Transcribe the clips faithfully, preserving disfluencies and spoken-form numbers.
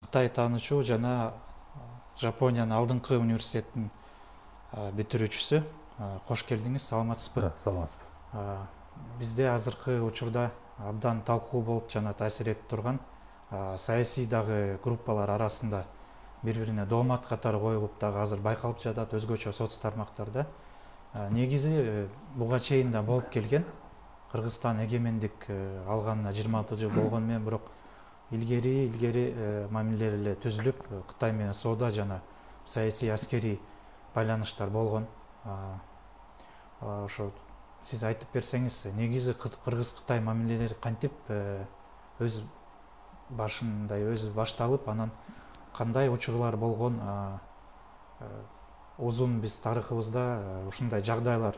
Кытай таанычу жана Жапониянын алдыңкы университеттин бүтүрүүчүсү. Кош келдиңиз, саламатсызбы? Саламатсызбы. Бизде азыркы учурда абдан талкуу болуп жана таасир этип турган саясий дагы группалар арасында бири-бирине доомат катары коюлуп дагы азыр байкалып жатат өзгөчө соц тармактарда. Негизи буга чейин да болуп келген. Кыргызстан эгемендик алганына жыйырма алты жыл болгону менен бирок илгери илгери мамилелер эле түзүлүп, Кытай менен соода жана саясий аскерий байланыштар болгон. Ошо сиз айтып берсеңиз, негизи Кыргыз-Кытай мамилелери кантип өз башындай өзү башталып, анан кандай учурлар болгон? Узун биз тарыхыбызда ушундай жагдайлар,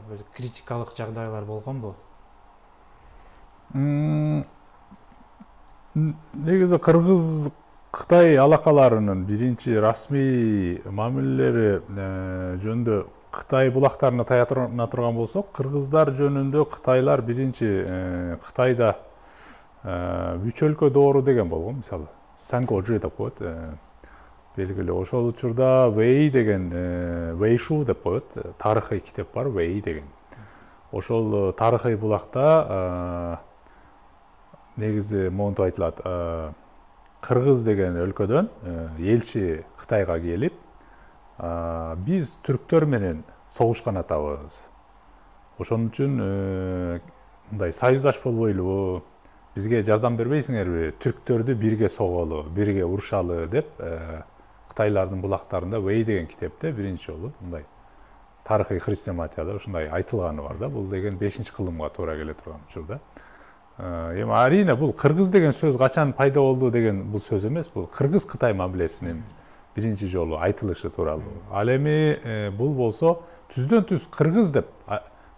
бир критикалык жагдайлар болгонбу? Негизи Кыргыз-Кытай алакаларынын биринчи расмий мамилелери жөнүндө Кытай булактарына таятына турган болсок, кыргыздар жөнүндө Кытайлар биринчи Кытайда үч өлкө доору деген болгон, мисалы Сангожи деп коет, белгилүү. Ошол учурда Вэй деген Вэйшу деп коет, тарыхый китеп бар, Вэй деген. Ошол тарыхый булакта негизи монтип айтылат, Кыргыз деген өлкөдөн элчи Кытайга келип, биз түрктөр менен согушкан атабыз. Ошон үчүн мындай союздаш болбойлубу, бизге жардам бербейсиңерби, түрктөрдү бирге соголу, бирге урушалы деп Кытайлардын булактарында Вэй деген китепте биринчи жолу мындай тарыхый хрестоматияда ушундай айтылганы бар да. Бул деген бешинчи кылымга туура келе турган учурда. Эми арийне бул кыргыз деген сөз качан пайда болду деген бул сөз эмес, бул Кыргыз-Кытай мамилесинин биринчи жолу айтылышы тууралуу. Ал эми бул болсо түздөн түз кыргыз деп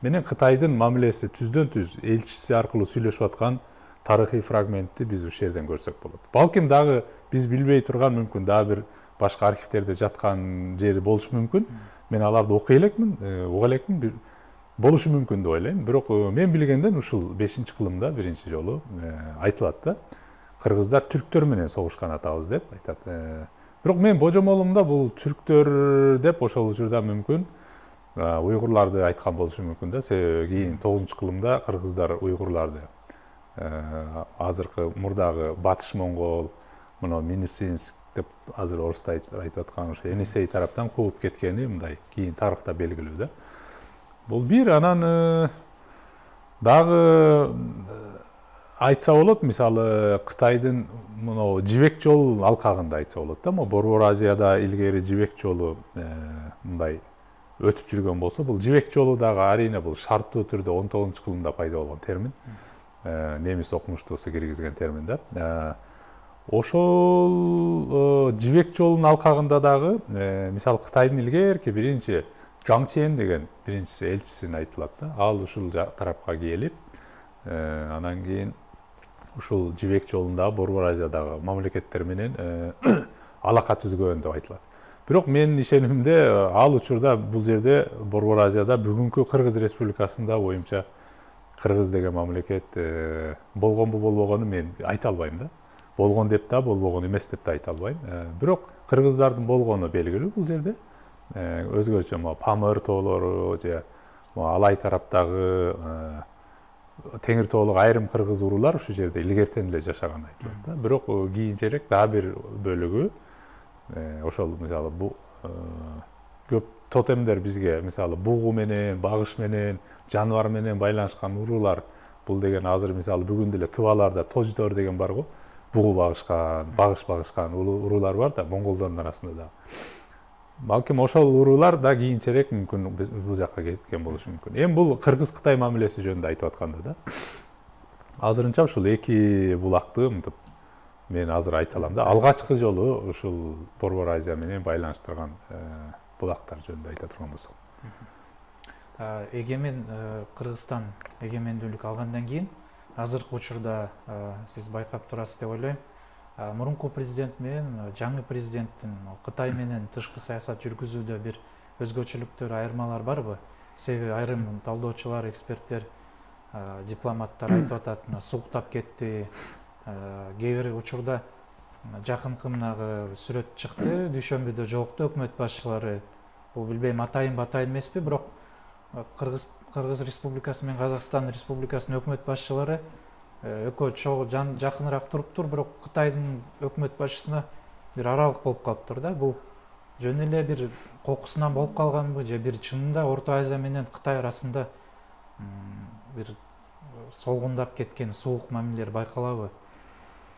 менен Кытайдын мамилеси түздөн түз элчиси аркылуу сүйлөшүп аткан тарыхый фрагментти биз ушул жерден көрсөк болот. Балким дагы биз билбей турган мүмкүн дагы бир башка архивтерде жаткан жери болушу мүмкүн. Мен аларды окуй элекмин, уга элекмин, болушу мүмкүн деп ойлойм. Бирок мен билгенден ушул бешинчи кылымда биринчи жолу айтылат да. Кыргыздар түрктөр менен согушкан атабыз деп айтат. Бирок мен божомолумда бул түрктөр деп ошол учурда мүмкүн уйгурларды айткан болушу мүмкүн да. Себеби кийин тогузунчу кылымда кыргыздар уйгурларды азыркы мурдагы Батыш Моңгол, мына Минусинск деп азыр орусда айтып аткан ошо Енисей тараптан кууп кеткени мындай кийин тарыхта белгилүү да. Бул бир, анан дагы айтса болот, мисалы Кытайдын мына Жибек жол алкагында айтса болот да. Могу Борбор Азияда илгери Жибек жолу мындай өтүп жүргөн болсо, бул Жибек жолу дагы арийне бул шарттуу түрдө он тогузунчу кылымда пайда болгон термин. Немис окумуштуусу киргизген термин да. Ошол Жибек жолунун алкагында дагы мисалы Кытайдын илгерки биринчи Жаң Чен деген биринчиси элчисин айтылат да. Ал ушул тарапка келип, анан кийин ушул Жибек жолунда Борбор Азиядагы мамлекеттер менен алака түзгөн деп айтылат. Бирок менин ишенимимде ал учурда бул жерде Борбор Азияда бүгүнкү Кыргыз Республикасында боюнча Кыргыз деген мамлекет болгонбу болбогонун мен айта албайм да. Болгон деп да, болбогон эмес деп да айта албайм. Бирок кыргыздардын болгону белгилүү бул жерде. Өзгөчө могу Памыр тоолору же Алай тараптагы Теңир тоолук айрым кыргыз уруулар ушул жерде илгертен эле жашаган айтылат да. Бирок кийинчерээк дагы бир бөлүгү ошол мисалы бу көп тотемдер бизге мисалы бугу менен, багыш менен, жаныбар менен байланышкан уруулар, бул деген азыр мисалы бүгүн деле тыбаларда тождор деген бар го. Бугу багышкан, багыш багышкан уруулар бар да, монголдордун арасында да. Балким ошол уруулар да кийинчерээк мүмкүн бул жакка кеткен болушу мүмкүн. Эми бул Кыргыз-Кытай мамилеси жөнүндө айтып атканда да. Азырынча ушул эки булакты мынтип мен азыр айта алам да. Алгачкы жолу ушул Борбор Азия менен байланыштырган булактар жөнүндө айта турган болсок. Эгемен Кыргызстан эгемендүүлүк алгандан кийин азыркы учурда сиз байкап турасыз деп ойлойм. Мурунку президент менен жаңы президенттин Кытай менен тышкы саясат жүргүзүүдө бир өзгөчөлүктөр, айырмалар барбы? Себеби айрым талдоочулар, эксперттер, дипломаттар айтып атат, сууктап кетти. Кээ бир учурда жакынкы мынагы сүрөт чыкты, дүйшөмбүдө жолукту өкмөт башчылары. Бул билбейм атайын батайын эмеспи, бирок Кыргыз Кыргыз Республикасы менен Казакстан Республикасынын өкмөт башчылары экөө чогуу жакыныраак туруптур, бирок Кытайдын өкмөт башчысына бир аралык болуп калыптыр да. Бул жөн эле бир кокусунан болуп калганбы же бир чынында Орто Азия менен Кытай арасында бир солгундап кеткен суук мамилелер байкалабы?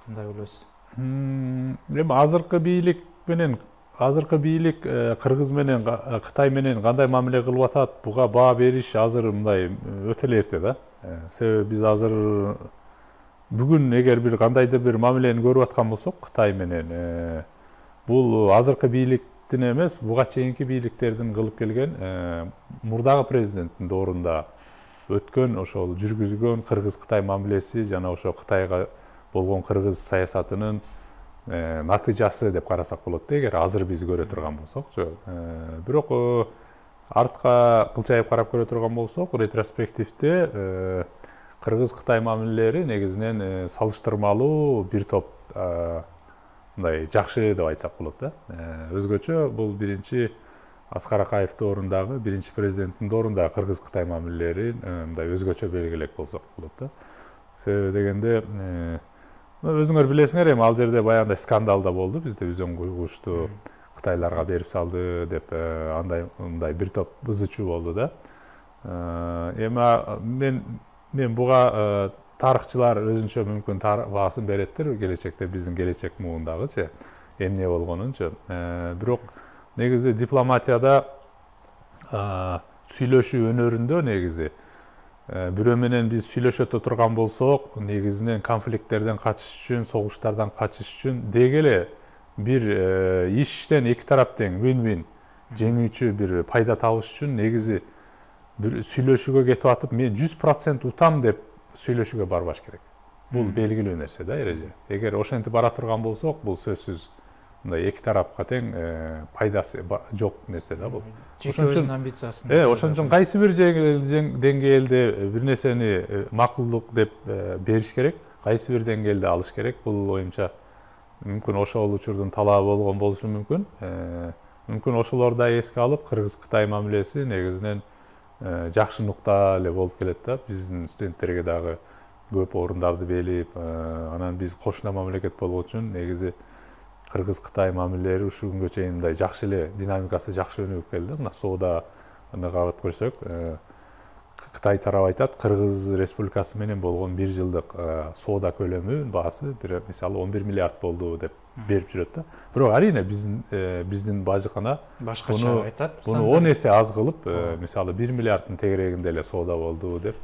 Кандай ойлойсуз? Эми азыркы бийлик менен азыркы бийлик Кыргыз менен Кытай менен кандай мамиле кылып атат, буга баа бериш азыр мындай өтө эле эрте да. Себеби биз азыр бүгүн эгер бир кандайдыр бир мамилени көрүп аткан болсок Кытай менен, бул азыркы бийликтин эмес, буга чейинки бийликтердин кылып келген мурдагы президенттин доорунда өткөн ошол жүргүзгөн Кыргыз-Кытай мамилеси жана ошо Кытайга болгон Кыргыз саясатынын натыйжасы деп карасак болот да, эгер азыр биз көрө турган болсокчу. Бирок артка кылчайып карап көрө турган болсок, ретроспективде Кыргыз-Кытай мамилелери негизинен салыштырмалуу бир топ мындай жакшы деп айтсак болот да. Өзгөчө бул биринчи Аскар Акаев доорундагы, биринчи президенттин доорундагы Кыргыз-Кытай мамилелерин мындай өзгөчө белгилеп болсок болот да. Себеби дегенде өзүңөр билесиңер, эми ал жерде баягындай скандал да болду, бизде Үзөң куйгучту Кытайларга берип салды деп андай мындай бир топ ызы чуу болду да. Эми мен мен буга тарыхчылар өзүнчө мүмкүн баасын береттир, келечекте биздин келечек муундагычы эмне болгонунчу. Бирок негизи дипломатияда сүйлөшүү өнөрүндө негизи бирөө менен биз сүйлөшө турган болсок, негизинен конфликттерден качыш үчүн, согуштардан качыш үчүн деги эле бир иштен эки тарап тең win-win жеңүүчү бир пайда табыш үчүн негизи бир сүйлөшүүгө кетип атып, мен жүз процент утам деп сүйлөшүүгө барбаш керек. Бул белгилүү нерсе да, эреже. Эгер ошентип бара турган болсок, бул сөзсүз мындай эки тарапка тең пайдасы жок нерсе да бул. Жеке өзүнүн амбициясын. Э, ошон үчүн кайсы бир деңгээлде бир нерсени макулдук деп бериш керек, кайсы бир деңгээлде алыш керек. Бул оюмча мүмкүн ошол учурдун талабы болгон болушу мүмкүн. Мүмкүн ошолорду да эске алып, Кыргыз-Кытай мамилеси негизинен жакшы нукта эле болуп келет да. Биздин студенттерге дагы көп орундарды белип, анан биз кошуна мамлекет болгон үчүн негизи Кыргыз-Кытай мамилелери ушул күнгө чейин мындай жакшы эле динамикасы жакшы өнүгүп келди. Мына сооданы карап көрсөк, Кытай тарабы айтат, Кыргыз Республикасы менен болгон бир жылдык соода көлөмү баасы бир мисалы он бир миллиард болду деп берип жүрөт да. Бирок арийне биздин биздин бажыкана башкача айтат. Буну он эсе аз кылып, мисалы бир миллиарддын тегерегинде эле соода болду деп,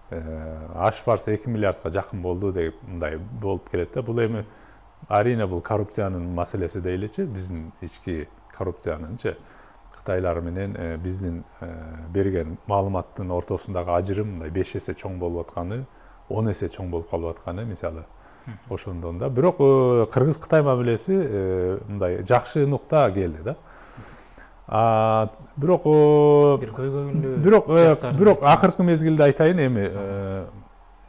ашып барса эки миллиардка жакын болду деп мындай болуп келет да. Бул эми арийне бул коррупциянын маселеси дейличи, биздин ички коррупциянынчы Кытайлар менен биздин берген маалыматтын ортосундагы ажырым мындай беш эсе чоң болуп атканы, он эсе чоң болуп калып атканы мисалы ошондон да. Бирок Кыргыз-Кытай мамилеси мындай жакшы нукта келди да. Бирок бир көйгөйлүү бирок бирок акыркы мезгилде айтайын, эми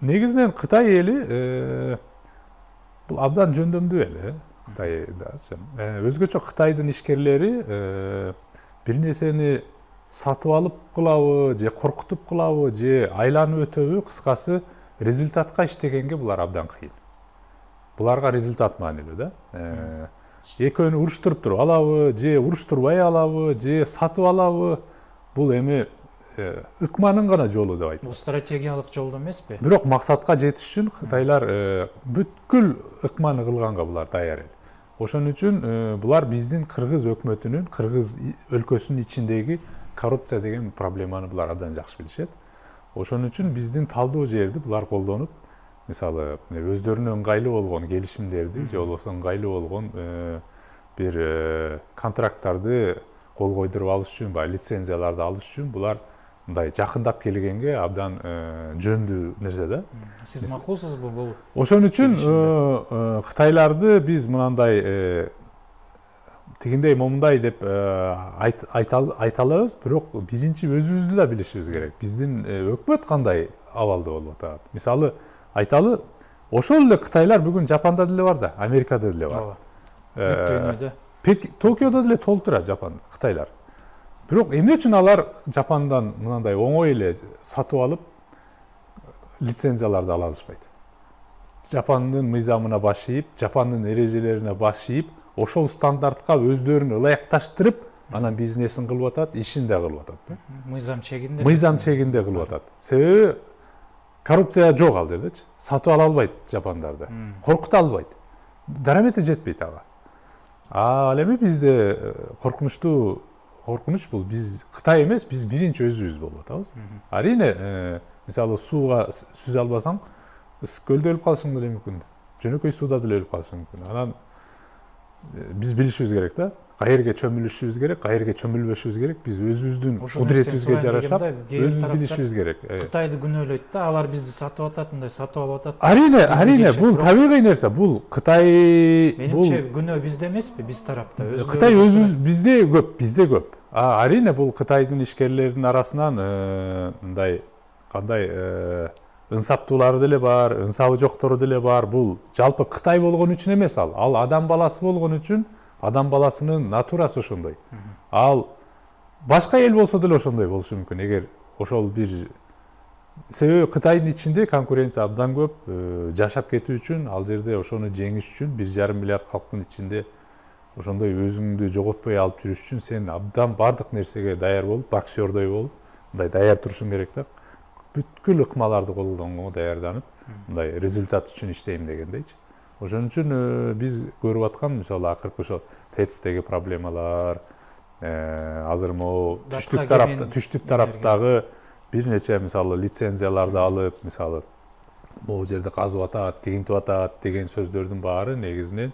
негизинен Кытай эли бул абдан жөндөмдүү эл, Кытайдачы. Өзгөчө Кытайдын ишкерлери бир нерсени сатып алып кылабы, же коркутуп кылабы, же айланып өтөбү, кыскасы результатка иштегенге булар абдан кыйын. Буларга результат маанилүү да. Экөөнү уруштуруп туруп алабы, же уруштурбай алабы, же сатып алабы, бул эми ыкманын гана жолу деп айтат. Бул стратегиялык жолдо эмеспи? Бирок максатка жетиш үчүн Кытайлар бүткүл ыкманы кылганга булар даяр эл. Ошон үчүн булар биздин Кыргыз өкмөтүнүн, Кыргыз өлкөсүнүн ичиндеги коррупция деген проблеманы булар абдан жакшы билишет. Ошон үчүн биздин талдоо жерди булар колдонуп, мисалы өздөрүнө ыңгайлуу болгон келишимдерди же болбосо ыңгайлуу болгон бир контракттарды кол койдуруп алыш үчүн, баягы лицензияларды алыш үчүн булар мындай жакындап келгенге абдан жөндүү нерсе да. Сиз макулсузбу бул? Ошон үчүн Кытайларды биз мынандай тигиндей момундай деп айта алабыз, бирок биринчи өзүбүздү да билишибиз керек. Биздин өкмөт кандай абалда болуп атат. Мисалы айталы, ошол эле кытайлар бүгүн Жапанда деле бар да, Америкада деле бар. Дүйнөдө. Токиодо деле толтура Жапан, кытайлар. Бирок эмне үчүн алар Жапандан мындай оңой эле сатып алып лицензияларды ала алышпайт? Жапандын мыйзамына баш ийип, Жапандын эрежелерине баш ийип, ошол стандартка өздөрүн ылайыкташтырып, анан бизнесин кылып атат, ишин да кылып атат. Мыйзам чегинде. Мыйзам чегинде кылып атат. Себеби коррупция жок ал жердечи. Сатып ала албайт жапандарды. Коркута албайт. Дарамети жетпейт ага. А ал эми бизде коркунучтуу коркунуч бул биз Кытай эмес, биз биринчи өзүбүз болуп атабыз. Арине, мисалы сууга сүзө албасаң, ысык көлдө өлүп калышың деле мүмкүн. Жөнөкөй сууда деле өлүп калышың мүмкүн. Анан биз билишибиз керек да. Кайерге чөмүлүшүбүз керек, кайерге чөмүлбөшүбүз керек. Биз өзүбүздүн кудуретибизге жарашап, өзүбүз билишибиз керек. Кытайды күнөөлөйт да, алар бизди сатып атат, мындай сатып алып атат. Арине, арине, бул табигый нерсе. Бул Кытай, бул менимче күнөө бизде эмеспи, биз тарапта. Кытай өзүбүз бизде көп, бизде көп. А арине бул Кытайдын ишкерлеринин арасынан мындай кандай ынсаптуулары деле бар, ынсабы жоктору деле бар. Бул жалпы Кытай болгон үчүн эмес ал. Ал адам баласы болгон үчүн, адам баласынын натурасы ошондой. Ал башка эл болсо деле ошондой болушу мүмкүн. Эгер ошол бир себеби Кытайдын ичинде конкуренция абдан көп, жашап кетүү үчүн, ал жерде ошону жеңиш үчүн бир жарым миллиард халктын ичинде ошондой өзүңдү жоготпой алып жүрүш үчүн сен абдан бардык нерсеге даяр болуп, боксердой болуп, мындай даяр турушуң керек да. Бүткүл ыкмаларды колдонго даярданып, мындай результат үчүн иштейм дегендейчи. Ошон үчүн биз көрүп аткан, мисалы, акыркы ошо ТЭЦтеги проблемалар, азыр могу түштүк тарапта, түштүк тараптагы бир нече мисалы лицензияларды алып, мисалы, могу жерде казып атат, тигинтип атат деген сөздөрдүн баары негизинен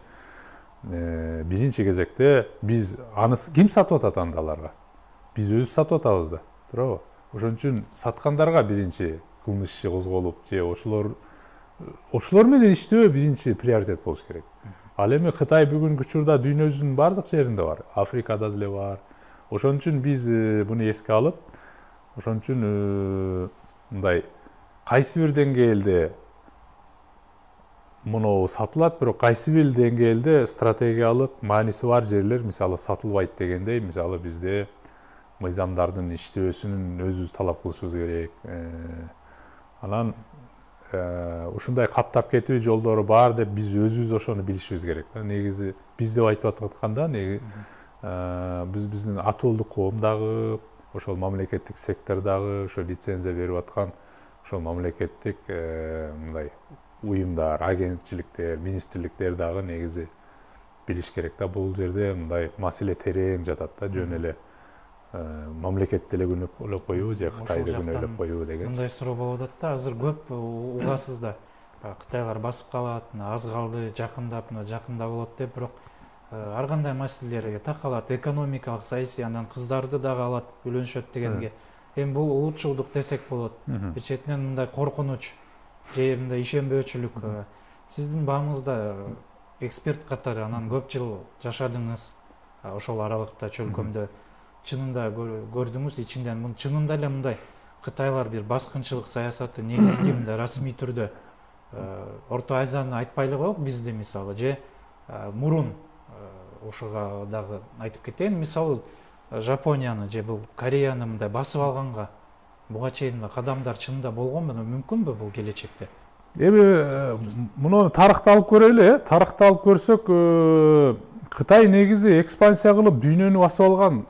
биринчи кезекте биз аны ким сатып атат анда аларга? Биз өзүбүз сатып атабыз да, туурабы? Ошон үчүн саткандарга биринчи кылмыш иши козголуп, же ошолор ошолор менен иштөө биринчи приоритет болуш керек. Ал эми Кытай бүгүнкү учурда дүйнөбүздүн бардык жеринде бар, Африкада деле бар. Ошон үчүн биз буну эске алып, ошон үчүн мындай кайсы бир деңгээлде муну сатылат, бирок кайсы бир деңгээлде стратегиялык мааниси бар жерлер мисалы сатылбайт дегендей, мисалы бизде мыйзамдардын иштөөсүнүн өзүбүз талап кылышыбыз керек. Анан ушундай каптап кетүү жолдору бар деп биз өзүбүз ошону билишибиз керек. Негизи биз деп айтып атканда, неги биз биздин атуулдук коом дагы, ошол мамлекеттик сектордагы ошо лицензия берип аткан ошол мамлекеттик мындай уюмдар, агентчиликтер, министрликтер дагы негизи билиш керек да. Бул жерде мындай маселе терең жатат да, жөн эле мамлекетти эле күнөөлөп коюу же Кытайды күнөөлөп коюу деген. Мындай суроо болуп атат да, азыр көп угасыз да. Кытайлар басып калат, аз калды, жакындап, жакында болот деп, бирок ар кандай маселелерге такалат, экономикалык, саясий, анан кыздарды дагы алат, үйлөнүшөт дегенге. Эми бул улутчулдук десек болот. Бир четинен мындай коркунуч же мындай ишенбөөчүлүк. Сиздин баамыңызда эксперт катары анан көп жыл жашадыңыз ошол аралыкта, чөлкөмдө. Чынында көрдүңүз ичинден, чынында эле мындай Кытайлар бир баскынчылык саясаты негизги мындай расмий түрдө Орто Азияны айтпай эле коелук, бизди мисалы, же мурун ошого дагы айтып кетейин, мисалы Жапонияны же бул Кореяны мындай басып алганга буга чейин кадамдар чынында болгонбу, мүмкүнбү бул келечекте? Эми муну тарыхты алып көрөлү, э? Тарыхты алып көрсөк, Кытай негизи экспансия кылып дүйнөнү басып алган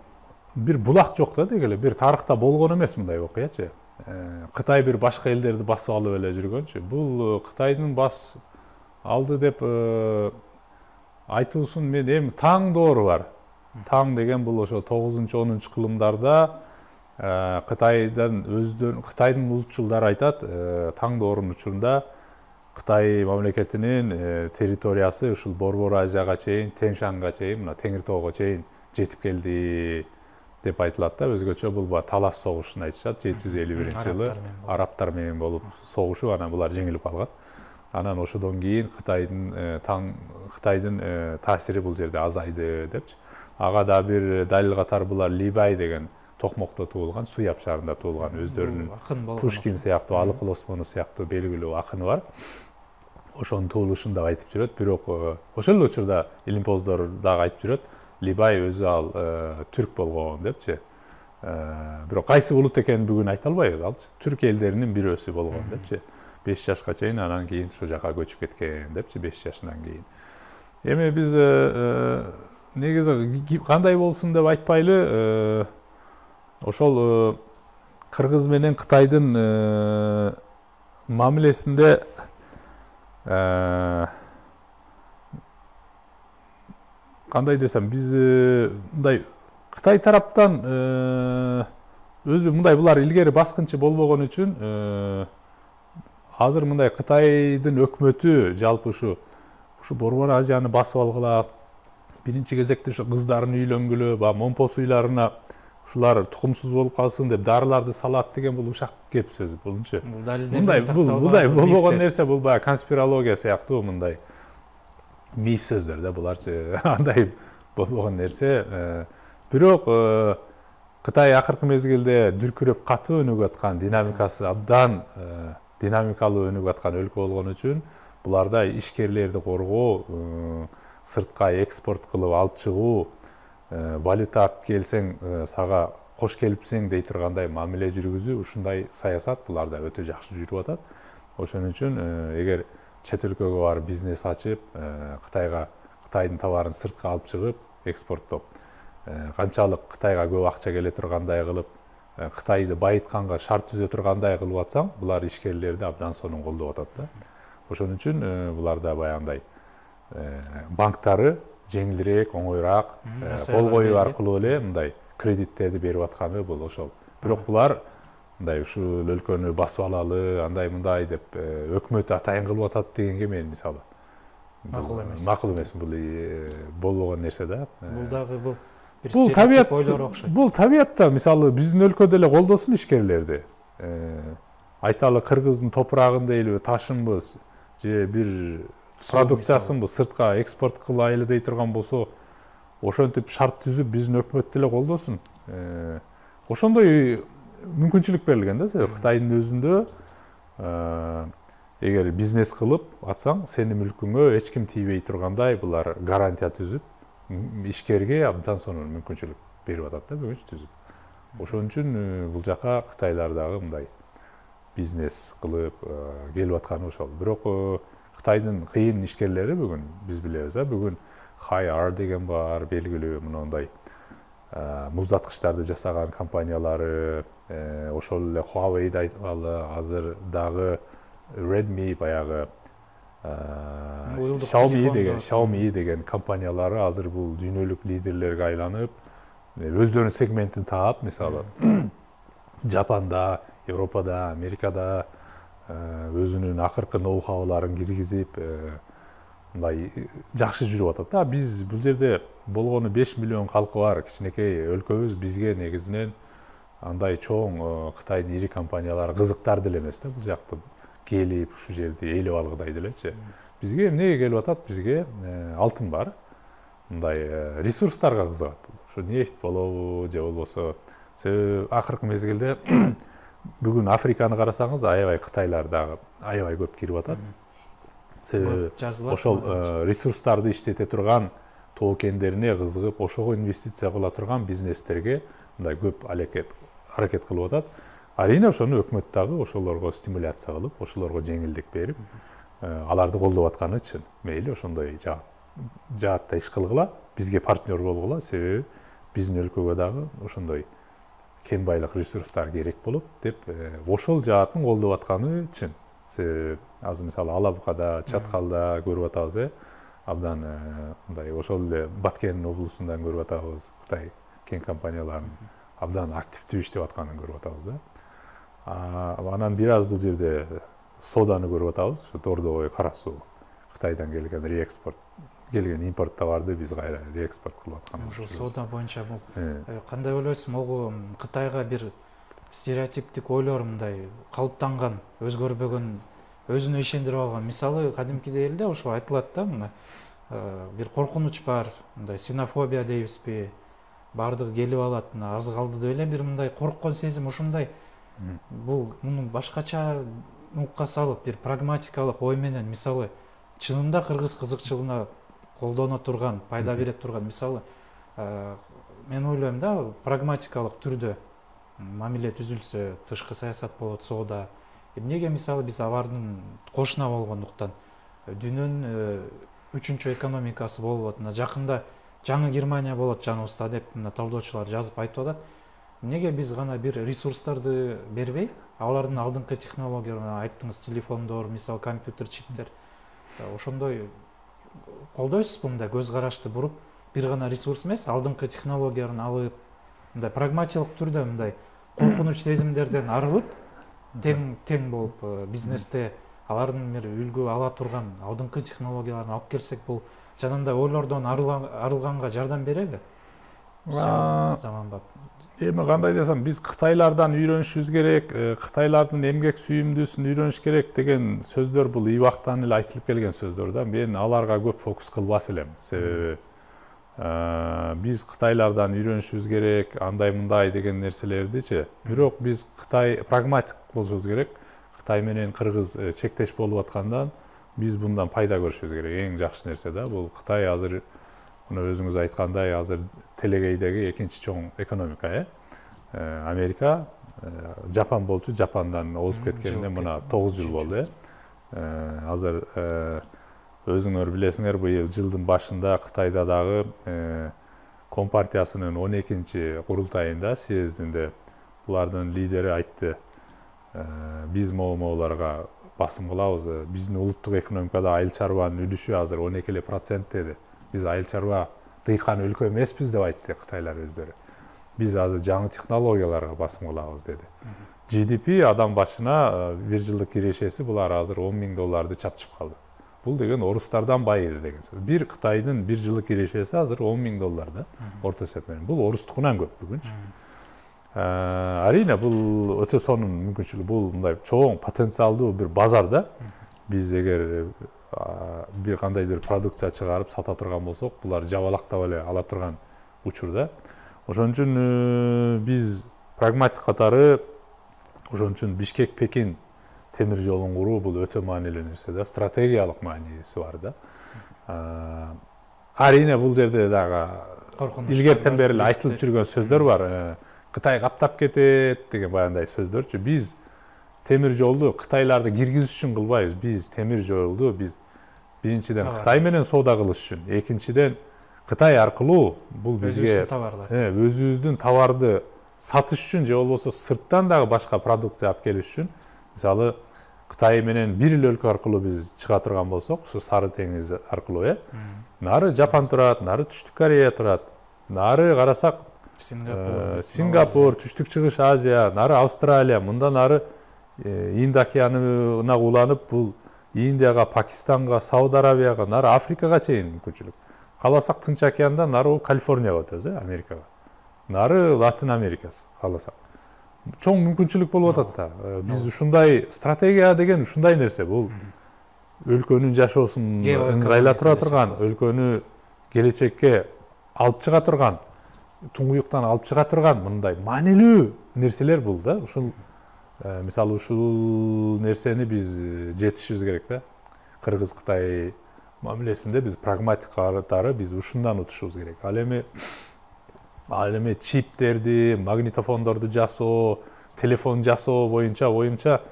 бир булак жок да, дегеле бир тарыхта болгон эмес мындай окуячы. Кытай бир башка элдерди басып алып эле жүргөнчү. Бул Кытайдын бас алды деп айтуусун мен эми таң доору бар. Таң деген бул ошо тогузунчу онунчу кылымдарда Кытайдан өздөрүн Кытайдын улутчулдары айтат, таң доорунун учурунда Кытай мамлекетинин территориясы ушул Борбор Азияга чейин, Тянь-Шаньга чейин, мына Теңир тоого чейин жетип келди деп айтылат да. Өзгөчө бул талаш согушун айтышат. жети жүз элүү биринчи жылы арабтар менен болуп согушуп, анан булар жеңилип калган. Анан ошодон кийин Кытайдын таң Кытайдын таасири бул жерде азайды депчи. Ага да бир далил катары булар Либай деген Токмокто туулган, Суяб шаарында туулган, өздөрүнүн Пушкин сыяктуу, Алыкул Осмонов сыяктуу белгилүү акыны бар. ошонун туулушун дагы айтып жүрөт. Бирок ошол эле учурда илимпоздор дагы айтып жүрөт, Либай өзү ал түрк болгон депчи. Бирок кайсы улут экенин бүгүн айта албайбыз, алчы түрк элдеринин бирөөсү болгон депчи. беш жашка чейин анан кийин ошол жака көчүп кеткен депчи, беш жашынан кийин. Эми биз негизи кандай болсун деп айтпайлы, ошол Кыргыз менен Кытайдын мамилесинде кандай десем, биз мындай Кытай тараптан өзү мындай булар илгери баскынчы болбогон үчүн азыр мындай Кытайдын өкмөтү жалпы ушу ушу Борбор Азияны басып алгыла, биринчи кезекте ушу кыздарын үйлөнгүлө, баягы момпо суйларына ушулар тукумсуз болуп калсын деп дарыларды салат деген бул ушак кеп сөз. Булчу мындай мындай болбогон нерсе, бул баягы конспирология сыяктуу мындай миф сөздөр да буларчы. Андай болбогон нерсе. Бирок Кытай акыркы мезгилде дүркүрөп катуу өнүгүп аткан, динамикасы абдан динамикалуу өнүгүп аткан өлкө болгон үчүн буларда ишкерлерди коргоо, сыртка экспорт кылып алып чыгуу, валюта алып келсең сага кош келипсиң дей тургандай мамиле жүргүзүү, ушундай саясат буларда өтө жакшы жүрүп атат. Ошон үчүн эгер чет өлкөгө барып бизнес ачып, Кытайга Кытайдын товарын сыртка алып чыгып экспорттоп, канчалык Кытайга көп акча келе тургандай кылып, Кытайды байытканга шарт түзө тургандай кылып атсаң, булар ишкерлерди абдан сонун колдоп атат да. Ошон үчүн буларда баягындай банктары жеңилирээк, оңоюраак, кол коюу аркылуу эле мындай кредиттерди берип атканы бул ошол. Бирок булар мындай ушул өлкөнү басып алалы, андай мындай деп өкмөт атайын кылып атат дегенге мен мисалы макул эмес. Макул эмес, бул болбогон нерсе да. Бул дагы бул бул табият ойлор окшойт. Бул табиятта мисалы биздин өлкөдө эле колдосун ишкерлерди. Айталы Кыргыздын топурагын дейлиби, ташынбыз же бир продукциясынбы сыртка экспорт кылайлы дей турган болсо, ошентип шарт түзүп биздин өкмөт деле колдосун. Ошондой мүмкүнчүлүк берилген да. Кытайдын өзүндө эгер бизнес кылып атсаң, сенин мүлкүңө эч ким тийбей тургандай булар гарантия түзүп, ишкерге абдан сонун мүмкүнчүлүк берип атат да бүгүнчү түзүп. Ошон үчүн бул жака Кытайлар дагы мындай бизнес кылып келип атканы ошол. Бирок Кытайдын кыйын ишкерлери бүгүн биз билебиз, а бүгүн Hi-R деген бар, белгилүү мындай муздаткычтарды жасаган компаниялары, ошол эле Huawei'ди айткалы, азыр дагы Redmi баягы Xiaomi деген Xiaomi деген компаниялары азыр бул дүйнөлүк лидерлерге айланып, өздөрүнүн сегментин таап, мисалы Жапанда, Европада, Америкада өзүнүн акыркы ноу-хауларын киргизип, мындай жакшы жүрүп атат да. Биз бул жерде болгону беш миллион калкы бар кичинекей өлкөбүз, бизге негизинен андай чоң Кытайдын ири компаниялары кызыктар деле эмес да, бул жакты келип ушу жерди ээлеп алгыдай делечи. Бизге эмнеге келип атат? Бизге алтын бар. Мындай ресурстарга кызыгат. Ушу нефть болобу же болбосо, себеби акыркы мезгилде бүгүн Африканы карасаңыз, аябай Кытайлар дагы аябай көп кирип атат. Себеби ошол ресурстарды иштете турган тоо кендерине кызыгып, ошого инвестиция кыла турган бизнестерге мындай көп аракет аракет кылып атат. Арийне ошону өкмөт дагы ошолорго стимуляция кылып, ошолорго жеңилдик берип, аларды колдоп атканы үчүн мейли ошондой жаатта иш кылгыла, бизге партнер болгула, себеби биздин өлкөгө дагы ошондой кен байлык ресурстар керек болот деп ошол жаатын колдоп атканы үчүн. Себеби азыр мисалы Алабукада, Чаткалда көрүп атабыз, э абдан мындай ошол эле Баткен облусундан көрүп атабыз, Кытай кен компанияларынын абдан активдүү иштеп атканын көрүп атабыз да. Анан бир аз бул жерде соданы көрүп атабыз, Тордогой, Кара Суу, Кытайдан келген реэкспорт, келген импорт товарды биз кайра реэкспорт кылып атканбыз. Ошол сода боюнча кандай ойлойсуз? Могу Кытайга бир стереотиптик ойлор мындай калыптанган, өзгөрбөгөн, өзүнө ишендирип алган. Мисалы, кадимкидей эле ошо айтылат да, мына бир коркунуч бар, мындай синофобия дейбизби? Бардыгы келип алат, мына аз калды деп эле бир мындай корккон сезим ушундай. Бул муну башкача нукка салып, бир прагматикалык ой менен, мисалы, чынында кыргыз кызыкчылыгына колдоно турган, пайда бере турган, мисалы мен ойлойм да, прагматикалык түрдө мамиле түзүлсө, тышкы саясат болот, соода. Эмнеге мисалы биз алардын кошуна болгондуктан дүйнөнүн үчүнчү экономикасы болуп атат. Жакында жаңы Германия болот жаныбызда деп мына талдоочулар жазып айтып атат. Эмнеге биз гана бир ресурстарды бербей, алардын алдыңкы технологияларын, айттыңыз, телефондор, мисалы компьютер, чиптер, ошондой колдойсузбу, мындай көз карашты буруп, бир гана ресурс эмес, алдыңкы технологияларын алып, мындай прагматиялык түрдө мындай коркунуч сезимдерден арылып, тең тең болуп бизнесте алардын бир үлгү ала турган алдыңкы технологияларын алып келсек, бул жанагындай ойлордон арылганга жардам береби? Заманбап. Эми кандай десем, биз Кытайлардан үйрөнүшүбүз керек, Кытайлардын эмгек сүйүмдүүсүн үйрөнүш керек деген сөздөр бул ийбактан эле айтылып келген сөздөр да. Мен аларга көп фокус кылбас элем. Себеби биз Кытайлардан үйрөнүшүбүз керек, андай мындай деген нерселердичи. Бирок биз Кытай прагматик болушубуз керек. Кытай менен Кыргыз чектеш болуп аткандан биз bundan пайда көрүшүбүз керек. Эң жакшы нерсе да. Бул Кытай азыр мына өзүңүз айткандай азыр телегейдеги экинчи чоң экономика, э? Америка, Жапан болчу, Жапандан озуп кеткенине мына тогуз жыл болду, э? Азыр өзүңөр билесиңер, быйыл жылдын башында Кытайда дагы Компартиясынын он экинчи курултайында, съездинде булардын лидери айтты, биз могуларга басым кылабыз, биздин улуттук экономикада айыл чарбанын үлүшү азыр он эки эле процент деди. Биз айыл чарба тыйкан өлкө эмеспиз деп айтты Кытайлар өздөрү. Биз азыр жаңы технологияларга басым кылабыз деди. джи ди пи адам башына бир жылдык кирешеси булар азыр он миң долларды чапчып калды. Бул деген орустардан байыды деген сөз. Бир Кытайдын бир жылдык кирешеси азыр он миң доллар да, орто эсеп менен. Бул орустукунан көп бүгүнчү. Арине бул өтө сонун мүмкүнчүлүк, бул мындай чоң потенциалдуу бир базар да. Биз эгер бир кандайдыр продукция чыгарып сата турган болсок, булар жабалактап эле ала турган учурда. Ошон үчүн биз прагматик катары, ошон үчүн Бишкек-Пекин темир жолун куруу бул өтө маанилүү нерсе да, стратегиялык мааниси бар да. Арине бул жерде дагы илгертен бери эле айтылып жүргөн сөздөр бар. Кытай каптап кетет деген баягындай сөздөрчү. Биз темир жолду Кытайларды киргизиш үчүн кылбайбыз. Биз темир жолду биз биринчиден Кытай менен соода кылыш үчүн, экинчиден Кытай аркылуу бул бизге өзүбүздүн товарды сатыш үчүн же болбосо сырттан дагы башка продукция алып келиш үчүн, мисалы Кытай менен бир эле өлкө аркылуу биз чыга турган болсок, ушу Сары деңиз аркылуу, э? Нары Жапан турат, нары Түштүк Корея турат, нары карасак Сингапур, Сингапур, Түштүк Чыгыш Азия, нары Австралия, мындан нары Инд океанына уланып, бул Индияга, Пакистанга, Сауд Арабияга, нары Африкага чейин мүмкүнчүлүк. Каласак Тынч океанда нары Калифорнияга өтөбүз, э, Америкага. Нары Латин Америкасы каласак. Чоң мүмкүнчүлүк болуп атат да. Биз ушундай стратегия деген ушундай нерсе, бул өлкөнүн жашоосун ыңгайлай тура турган, өлкөнү келечекке алып чыга турган, туңгуюктан алып чыга турган мындай маанилүү нерселер бул да. Ушул мисалы ушул нерсени биз жетишибиз керек да. Кыргыз-Кытай мамилесинде биз прагматик катары биз ушундан утушубуз керек. Ал эми ал эми чиптерди, магнитофондорду жасоо, телефон жасоо боюнча оюмча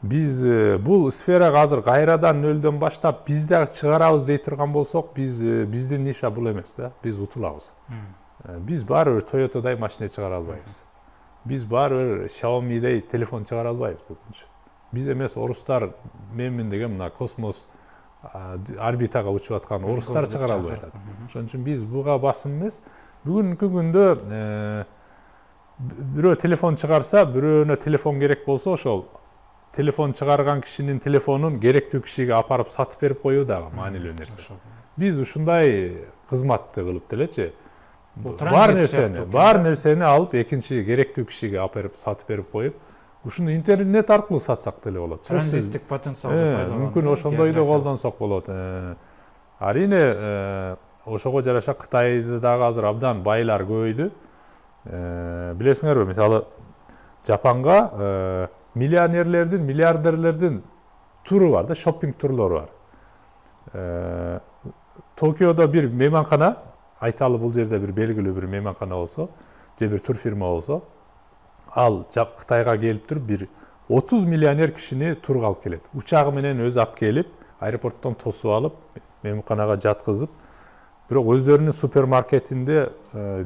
биз бул сферага азыр кайрадан нөлдөн баштап биз дагы чыгарабыз дей турган болсок, биз биздин ниша бул эмес да. Биз утулабыз. Биз баары бир Toyota'дай машина чыгара албайбыз. Биз баары бир Xiaomi'дей телефон чыгара албайбыз бүгүнчү. Биз эмес, орустар менмин деген мына космос орбитага учуп аткан орустар чыгара албай атат. Ошон үчүн биз буга басым эмес. Бүгүнкү күндө бирөө телефон чыгарса, бирөөнө телефон керек болсо, ошол телефон чыгарган кишинин телефонун керектүү кишиге апарып сатып берип коюу дагы маанилүү нерсе. Биз ушундай кызматты кылып делечи, бар нерсени, бар нерсени алып экинчи керектүү кишиге алып берип сатып берип коюп, ушуну интернет аркылуу сатсак деле болот. Транзиттик потенциалды пайдаланып, мүмкүн ошондой да колдонсок болот. Арине ошого жараша Кытайды дагы азыр абдан байлар көбөйдү. Билесиңерби, мисалы Жапанга миллионерлердин, миллиардерлердин туру бар да, шоппинг турлору бар. Токиодо бир мейманкана, айталы бул жерде бир белгилүү бир мейманкана болсо, же бир турфирма болсо, ал Кытайга келип туруп бир отуз миллионер кишини турга алып келет. Учагы менен өзү алып келип, аэропорттон тосуп алып, мейманканага жаткызып, бирок өздөрүнүн супермаркетинде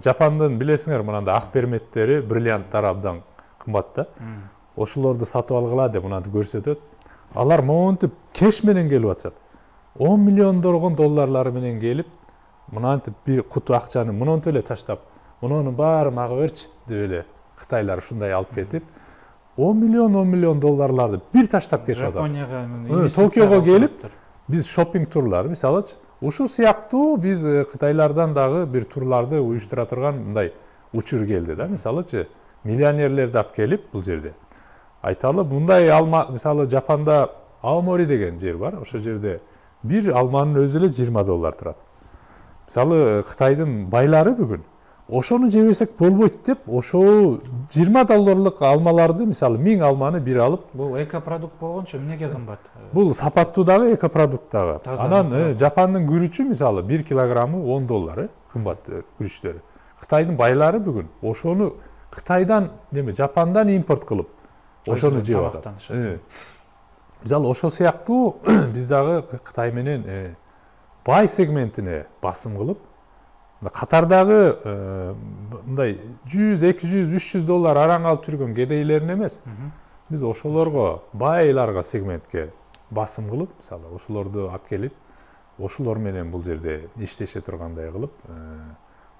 Жапандын билесиңер, мынандай ак перметтери, бриллианттар абдан кымбат да. Ошолорду сатып алгыла деп мынантип көрсөтөт. Алар монтип кеш менен келип атышат. он миллиондоргон долларлары менен келип, мынантип бир куту акчаны монтип эле таштап, мунунун баары мага берчи деп эле кытайлар ушундай алып кетип, он миллион он миллион долларларды бир таштап кетип атат. Жапонияга Токиого келип, биз шопинг турлар, мисалычы, ушул сыяктуу биз кытайлардан дагы бир турларды уюштура турган мындай учур келди да. Мисалычы, миллионерлерди алып келип бул жерде. Айталы, мындай алма, мисалы Жапанда Аомори деген жер бар. Ошол жерде бир алманын өзү эле жыйырма доллар турат. Мисалы Кытайдын байлары бүгүн ошону жебесек болбойт деп, ошол жыйырма долларлык алмаларды, мисалы миң алманы бир алып, бул экопродукт болгончо эмнеге кымбат? Бул сапаттуу дагы, экопродукт дагы. Анан Жапандын күрүчү мисалы бир килограммы он доллар, кымбат күрүчтөрү. Кытайдын байлары бүгүн ошону Кытайдан, неме, Жапандан импорт кылып, ошону жеп атат. Мисалы ошол сыяктуу биз дагы Кытай менен бай сегментине басым кылып, катардагы мындай жүз, эки жүз, үч жүз доллар араң алып жүргөн кедейлерин эмес, биз ошолорго, байларга, сегментке басым кылып, мисалы ошолорду алып келип, ошолор менен бул жерде иштеше тургандай кылып,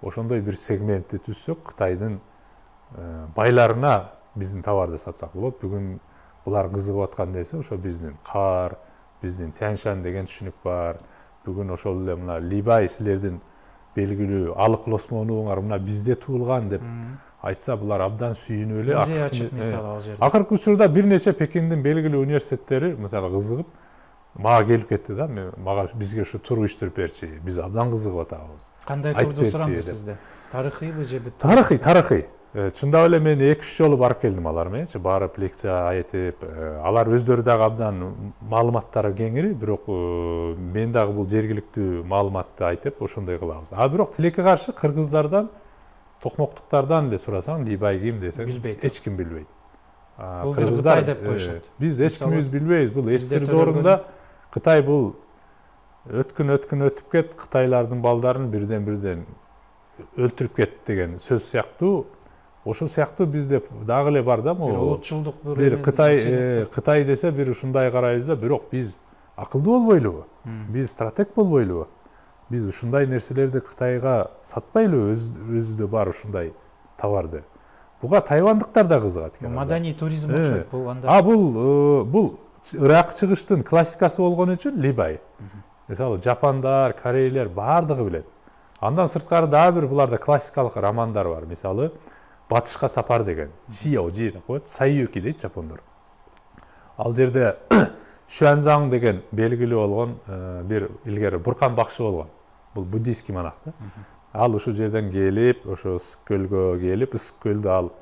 ошондой бир сегментти түзсөк, Кытайдын байларына биздин товарды сатсак болот. Бүгүн булар кызыгып аткан нерсе ошо биздин кар, биздин Тяньшань деген түшүнүк бар. Бүгүн ошол эле мына Либай силердин белгилүү алыкыл осмонуңар мына бизде туулган деп айтса, булар абдан сүйүнүп эле. Музей ачып мисалы ал жерде. Акыркы учурда бир нече Пекиндин белгилүү университеттери мисалы кызыгып мага келип кетти да, мага бизге ушу тур уюштуруп берчи, биз абдан кызыгып атабыз. Кандай турду сурамды сизде? Тарыхыйбы же бүт? Тарыхый, тарыхый. Чындап эле мен эки үч жолу барып келдим алар менен, барып лекция айтып, алар өздөрү дагы абдан маалыматтары кеңири, бирок мен дагы бул жергиликтүү маалыматты айтып, ошондой кылабыз. А бирок тилекке каршы кыргыздардан, токмоктуктардан эле сурасаң, Либай ким десең, эч ким билбейт. Бул бир Кытай деп коюшат. Биз эч кимибиз билбейбиз. Бул эстир доорунда Кытай бул өткүн өткүн өтүп кет, кытайлардын балдарын бирден-бирден өлтүрүп кет деген сөз сыяктуу. Ошол сыяктуу бизде дагы эле бар да, бир улутчулдук бир Кытай Кытай десе бир ушундай карайбыз да, бирок биз акылдуу болбойлубу? Биз стратег болбойлубу? Биз ушундай нерселерди Кытайга сатпайлыбы, өзүбүздө бар ушундай товарды? Буга тайвандыктар да кызыгат экен. Маданий туризм окшойт бул анда. А бул бул Ирак чыгыштын классикасы болгон үчүн Либай. Мисалы Жапандар, корейлер бардыгы билет. Андан сырткары дагы бир буларда классикалык романдар бар. Мисалы Батышка сапар деген, Шиоужи деп коет, Сайюки дейт жапондор. Ал жерде Шуанзаң деген белгилүү болгон бир илгери буркан бакшы болгон. Бул буддийский монах да. Ал ушул жерден келип, ошо ысык көлгө келип, ысык көлдү ал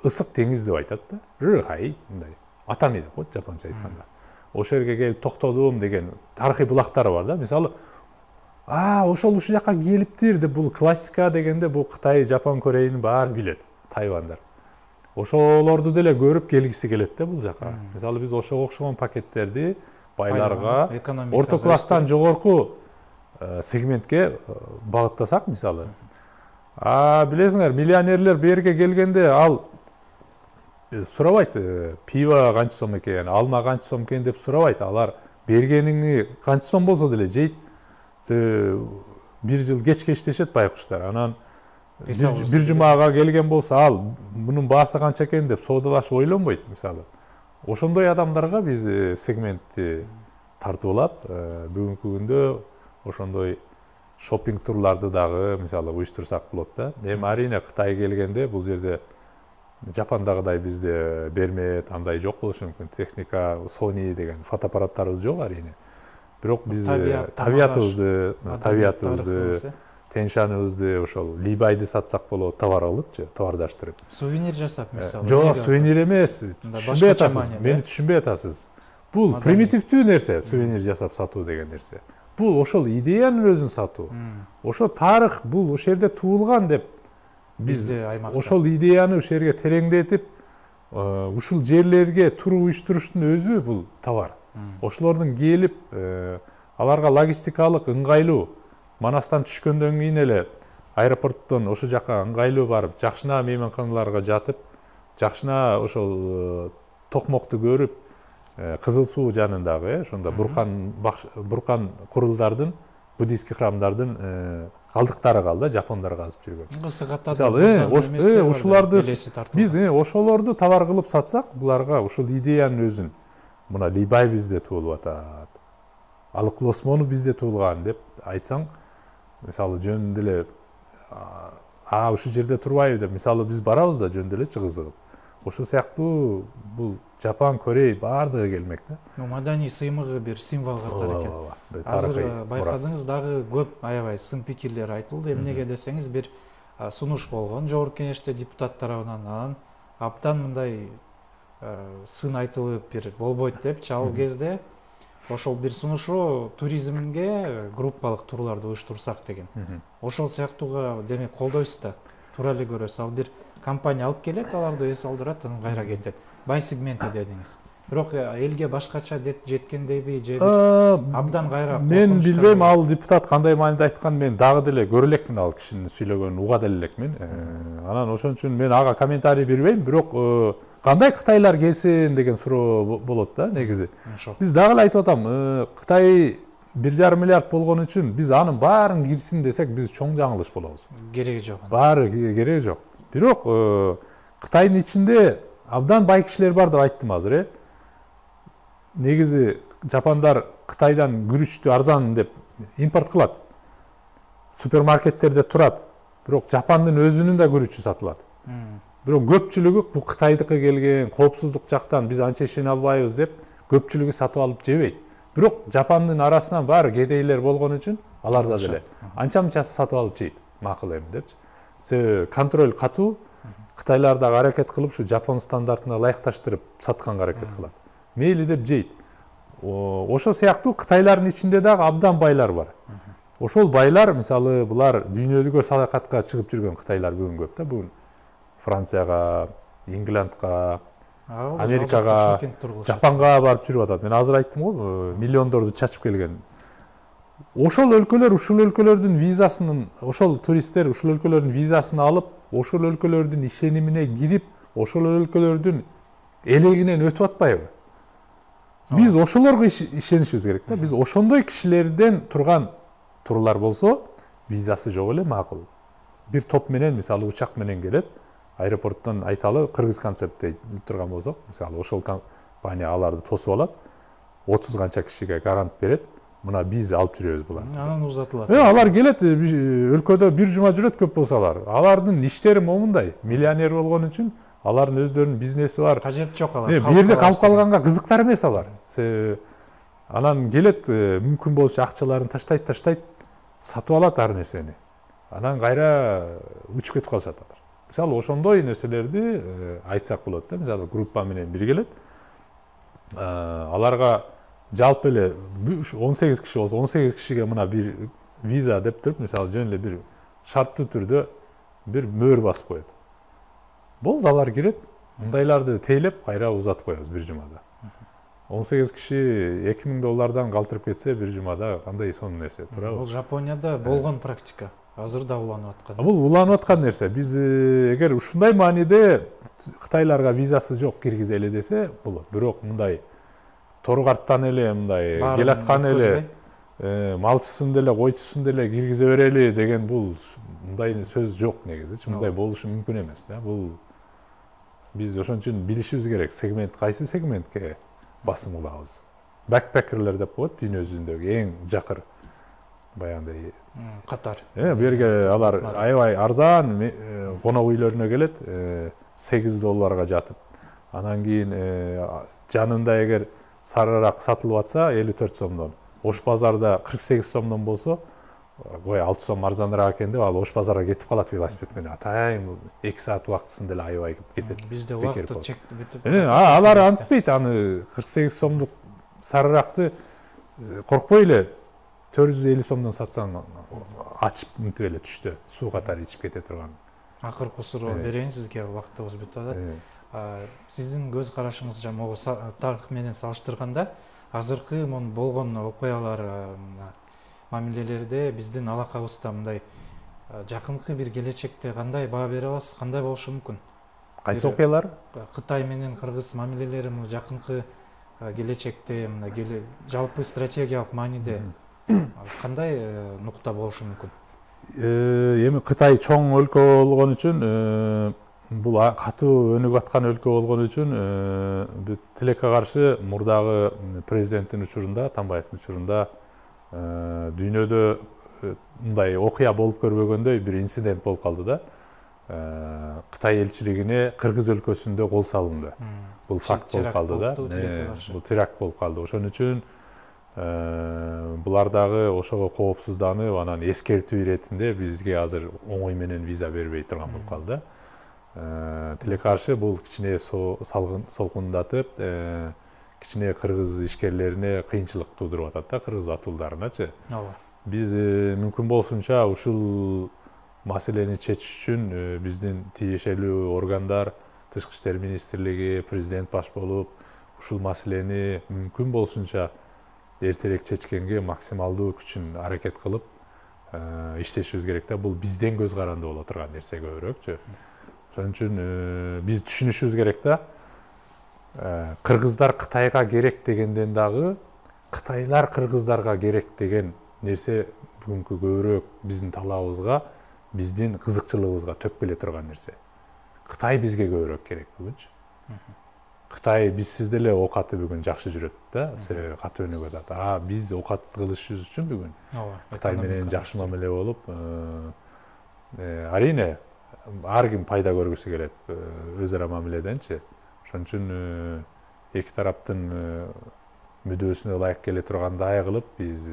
ысык деңиз деп айтат да. Рыхай мындай. Атами деп коет жапонча айтканда. Ошол жерге келип токтодум деген тарыхый булактары бар да. Мисалы, а, ошол ушул жака келиптир деп бул классика дегенде бул Кытай, Жапон, Кореянын баары билет, тайвандар. Ошолорду деле көрүп келгиси келет да бул жака. Мисалы биз ошого окшогон пакеттерди байларга, орто класстан жогорку сегментке багыттасак, мисалы. А билесиңер, миллионерлер берге келгенде ал сурабайт, пиво канча сом экен, алма канча сом экен деп сурабайт. Алар бергениңи канча сом болсо деле жейт. Бир жыл кечке иштешет байкуштар. Анан бир жумага келген болсо ал мунун баасы канча экен деп соодалашып ойлонбойт, мисалы. Ошондой адамдарга биз сегментти тартуулап, бүгүнкү күндө ошондой шопинг турларды дагы мисалы уюштурсак болот да. Эми арине Кытай келгенде бул жерде Жапондагыдай бизде бермет, андай жок болушу мүмкүн. Техника, Sony деген фотоаппараттарыбыз жок арине. Бирок биз табиятыбызды, табиятыбызды, Тяньшаныбызды, ошол Либайды сатсак болот, товар алыпчы, товардаштырып. Сувенир жасап, мисалы. Жок, сувенир эмес. Түшүнбөй атасыз, мени түшүнбөй атасыз. бул примитивдүү нерсе, сувенир жасап сатуу деген нерсе. Бул ошол идеянын өзүн сатуу. Ошо тарых бул ошол жерде туулган деп бизде аймакта ошол идеяны ошол жерге тереңдетип, ушул жерлерге тур уюштуруштун өзү бул товар. Ошолордун келип, аларга логистикалык ыңгайлуу, Манастан түшкөндөн кийин эле аэропорттон ошол жака ыңгайлуу барып, жакшына мейманканаларга жатып, жакшына ошол токмокту көрүп, Кызыл суу жанындагы, ошондо буркан буркан курулдардын, буддийский храмдардын калдыктары калды, жапондар казып жүргөн. Мисалы, ошолорду биз ошолорду товар кылып сатсак, буларга ошол идеянын өзүн, мына Либай бизде туулуп атат, Алык Осмонов бизде туулган деп айтсаң, мисалы жөн деле а ушул жерде турбайбы деп, мисалы биз барабыз да жөн деле кызыгып. Ошол сыяктуу бул Жапон, Корей баардыгы келмек да. Маданий сыймыгы бир символ катары экен. Азыр байкадыңыз, дагы көп аябай сын пикирлер айтылды. Эмнеге десеңиз, бир сунуш болгон Жогорку Кеңеште депутат тарабынан, анан абдан мындай сын айтылып бир болбойт депчи, ал кезде ошол бир сунушу туризмге группалык турларды уюштурсак деген. Ошол сыяктууга демек колдойсуз да. Тура эле көрөсүз, ал бир компания алып келет, аларды эс алдырат, анан кайра кетет. Бай сегменти дедиңиз. Бирок элге башкача жеткендейби же абдан кайра? Мен билбейм, ал депутат кандай мааниде айткан, мен дагы деле көрө элекмин, ал кишинин сүйлөгөнүн уга деле элекмин. Анан ошон үчүн мен ага комментарий бербейм, бирок кандай Кытайлар келсин деген суроо болот да негизи. Биз дагы эле айтып атам, Кытай бир жарым миллиард болгон үчүн биз анын баарын кирсин десек, биз чоң жаңылыш болобуз. Кереги жок. Баары кереги жок. Бирок Кытайдын ичинде абдан бай кишилер бар деп айттым азыр, э. Негизи жапондар Кытайдан күрүчтү арзан деп импорт кылат. Супермаркеттерде турат. Бирок Жапондун өзүнүн да күрүчү сатылат. Бирок көпчүлүгү бу Кытайдыкы келген, коопсуздук жактан биз анча ишене албайбыз деп көпчүлүгү сатып алып жебейт. Бирок Жапондун арасынан баары кедейлер болгон үчүн алар да деле анча-мынчасы сатып алып жейт. Макул эми депчи. Себеби контроль катуу, Кытайлар дагы аракет кылып ушу Жапон стандартына ылайыкташтырып сатканга аракет кылат. Мейли деп жейт. Ошол сыяктуу Кытайлардын ичинде дагы абдан байлар бар. Ошол байлар, мисалы, булар дүйнөлүккө саякатка чыгып жүргөн Кытайлар бүгүн көп да, бүгүн Францияга, Ингландга, Америкага, Жапонго барып жүрүп атат. Мен азыр айттым го, миллиондорду чачып келген. Ошол өлкөлөр, ушул өлкөлөрдүн визасын, ошол туристтер ушул өлкөлөрдүн визасын алып, ошол өлкөлөрдүн ишенимине кирип, ошол өлкөлөрдүн элегинен өтүп атпайбы? Биз ошолорго ишенишибиз керек да. Биз ошондой кишилерден турган турлар болсо, визасы жок эле макул. Бир топ менен, мисалы, учак менен келет, аэропорттон айталы кыргыз концепт дейт турган болсок, мисалы, ошол компания аларды тосуп алат, отуз канча кишиге гарант берет. Мына биз алып жүрөбүз буларды. Анан узатылат. Э, алар келет, өлкөдө бир жума жүрөт көп болсо алар. Алардын иштери момундай, миллионер болгон үчүн алардын өздөрүнүн бизнеси бар. Кажет жок алар. Бир жерде калып калганга кызыктар эмес алар. Анан келет, мүмкүн болчу акчаларын таштайт, таштайт, сатып алат ар нерсени. Анан кайра учуп кетип калышат алар. Мисалы, ошондой нерселерди айтсак болот да. Мисалы, группа менен бир келет. Аларга жалпы эле он сегиз киши болсо, он сегиз кишиге мына бир виза деп туруп, мисалы, жөн эле бир шарттуу түрдө бир мөөр басып коет. Болду, алар кирет, мындайларды тейлеп, кайра узатып коебуз бир жумада. он сегиз киши эки миң доллардан калтырып кетсе, бир жумада кандай сонун нерсе, туурабы? Бул Жапонияда болгон практика. Азыр да уланып аткан. Бул уланып аткан нерсе. Биз эгер ушундай мааниде Кытайларга визасы жок киргизе эле десе болот. Бирок мындай торгарттан эле мындай келаткан эле малчысын деле койчусун деле киргизе берели деген бул мындай сөз жок негизи. Мындай болушу мүмкүн эмес да. Бул биз ошон үчүн билишибиз керек, сегмент кайсы сегментке басым кылабыз. Бэкпекерлер деп коет, дүйнө жүзүндөгү эң жакыр баягындай катар. Э, бу жерге алар аябай арзан конок үйлөрүнө келет, сегиз долларга жатып. Анан кийин жанында эгер сарыраак сатылып атса элүү төрт сомдон, Ош базарда кырк сегиз сомдон болсо, кой алты сом арзаныраак экен деп ал Ош базарга кетип калат велосипед менен. Атайын эки саат убактысын деле аябай кетет. Бизде убакыт чектелип бүтүп. Алар антпейт, аны кырк сегиз сомдук сарыракты коркпой эле төрт жүз элүү сомдон сатсаң ачып мынтип эле түштө суу катары ичип кете турган. Акыркы суроо берейин сизге, убактыбыз бүтүп атат. Сиздин көз карашыңызча могу тарых менен салыштырганда азыркы монун болгон окуялар, мамилелерде биздин алакабызда мындай жакынкы бир келечекте кандай баа бере аласыз, кандай болушу мүмкүн? Кайсы окуялар? Кытай менен кыргыз мамилелери жакынкы келечекте мына жалпы стратегиялык мааниде кандай нукта болушу мүмкүн? Эми Кытай чоң өлкө болгон үчүн, бул катуу өнүгүп аткан өлкө болгон үчүн тилекке каршы мурдагы президенттин учурунда, Атамбаевдин учурунда дүйнөдө мындай окуя болуп көрбөгөндөй бир инцидент болуп калды да. Кытай элчилигине Кыргыз өлкөсүндө кол салынды. Бул факт болуп калды да. Бул теракт болуп калды. Ошон үчүн булар дагы ошого коопсузданып, анан эскертүү иретинде бизге азыр оңой менен виза бербей турган болуп калды. Тилекке каршы бул кичине солкундатып, кичине кыргыз ишкерлерине кыйынчылык туудуруп атат да, кыргыз атуулдарыначы. Биз мүмкүн болсунча ушул маселени чечиш үчүн биздин тиешелүү органдар, Тышкы иштер министрлиги, президент баш болуп, ушул маселени мүмкүн болсунча эртерээк чечкенге максималдуу күчүн аракет кылып иштешибиз керек да. Бул бизден көз каранды боло турган нерсе көбүрөөкчү. Ошон үчүн биз түшүнүшүбүз керек да. Кыргыздар Кытайга керек дегенден дагы Кытайлар кыргыздарга керек деген нерсе бүгүнкү көбүрөөк биздин талабыбызга, биздин кызыкчылыгыбызга төп келе турган нерсе. Кытай бизге көбүрөөк керек бүгүнчү. Кытай бизсиз деле оокаты бүгүн жакшы жүрөт да, себеби катуу өнүгүп атат. А биз оокат кылышыбыз үчүн бүгүн Кытай менен жакшы мамиле болуп, арийне ар ким пайда көргүсү келет өз ара мамиледенчи. Ошон үчүн эки тараптын мүдөөсүнө ылайык келе тургандай кылып биз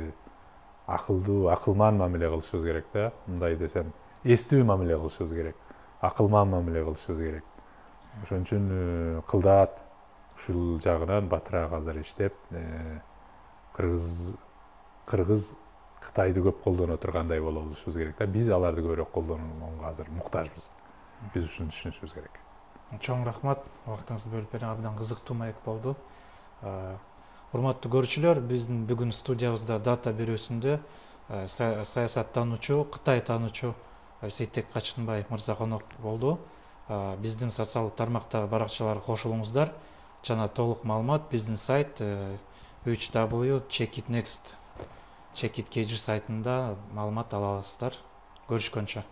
акылдуу, акылман мамиле кылышыбыз керек да. Мындай десем, эстүү мамиле кылышыбыз керек, акылман мамиле кылышыбыз керек. Ошон үчүн кылдаат ушул жагынан батыраак азыр иштеп, кыргыз кыргыз Кытайды көп колдоно тургандай боло алышыбыз керек да. Биз аларды көбүрөөк колдонууга азыр муктажбыз. Биз ушуну түшүнүшүбүз керек. Чоң рахмат, убактыңызды бөлүп берген абдан кызыктуу маек болду. Урматтуу көрүүчүлөр, биздин бүгүн студиябызда дата берүүсүндө саясаттануучу, Кытай таануучу Сейтек Качкынбай мырза конок болду. Биздин социалдык тармактагы баракчаларга кошулуңуздар. Жана толук маалымат биздин сайт үч дабл ю точка check it next check it kg сайтында маалымат ала аласыздар. Көрүшкөнчө.